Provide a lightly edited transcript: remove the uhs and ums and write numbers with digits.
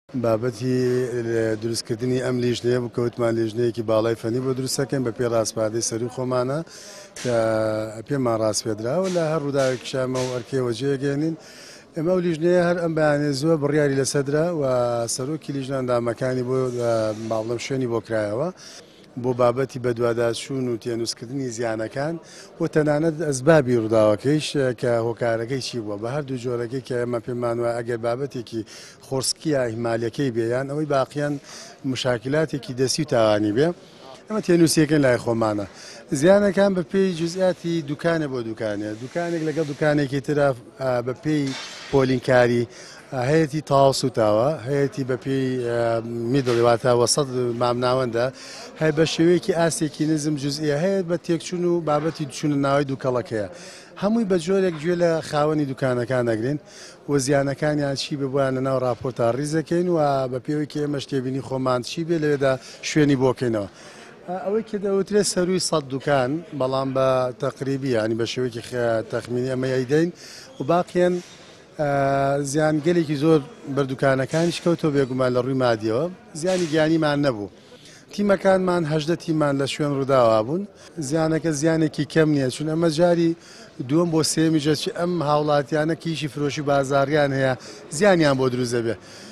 بابەتی دروستکردنی ئەم لیژنەیە بوو کە وتمان لیژنەیەکی باڵای فەنی بۆ دروست دەکەین بە پێی ڕاسپاردەی سەروو خۆمانە کە پێمان ڕاسپێدراوە لە هەر ڕووداوێکیش ئەمە و ئەرکەی وەجێگەێنین. ئێمە ئەو لیژنەیە هەر ئەم بەیانیە زووە بڕیاری لەسەر درا و سەرۆکی لیژنە ئەندامەکانی بۆ با بڵێم شوێنی بۆ کرایەوە. بۆ بابەتی بەدواداچوون و تێنووسکردنی زیانەکان و تەنانەت ئەسبابی ڕووداوەکەیش کە هۆکارەکەی چی بووە بە هەردوو جۆرەکەی کە ئێمە پێمان وایە ئەگەر بابەتێکی خۆڕسکی یا ئیهمالیەکەی بێ یان ئەوەی باقیان مشاکلاتێکی دەستی و تاوانی بێ ئەمە تێنووسیەکەین لای خۆمانە. زیانەکان بە پێی جزئیاتی دوکانێ بۆ دوکانێ، دوکانێک لەگەڵ دوکانێکی ترا بە پێی پۆلینکاری هەیەتی تەواو سوتاوە، هەیەتی بە پێی میدڵی واتە وەسەت مامناوەندە، هەیە بە شێوەیەکی ئاستێکی نزم جزئیە، هەیە بە تێکچون و بابەتی چونە ناوەی دوکەڵەکەیە. هەمووی بە جۆرێک گوێ لە خاوەنی دوکانەکان ئەگرین و زیانەکانیان چی بێ بۆیان لە ناو راپۆرتا ڕیز دەکەین و بە پێوەی کە ئێمەش تێبینی خۆمان چی بێ لەوێدا شوێنی بۆ کەینەوە. ئەوەی کە دەوترێت سەرووی 100 دوکان، بەڵام بە تەقریبی یانی بە شێوەیەکی تەخمینی ئەمە ئەیدەین و باقیان زیان گەلێکی زۆر بەر دوکانەکانیش کەوتەوە، بێگومان لە ڕووی مادیەوە زیانی گیانیمان نەبوو. تیمەکانمان 18 تیمان لە شوێن ڕووداوا بوون. زیانەکە زیانێکی کەم نییە، چون ئەمە جاری دووەم بۆ سێیەمیشە چ ئەم هاوڵاتیانە کە ئیشی فرۆشی بازاڕیان هەیە زیانیان بۆ دروست دەبێت.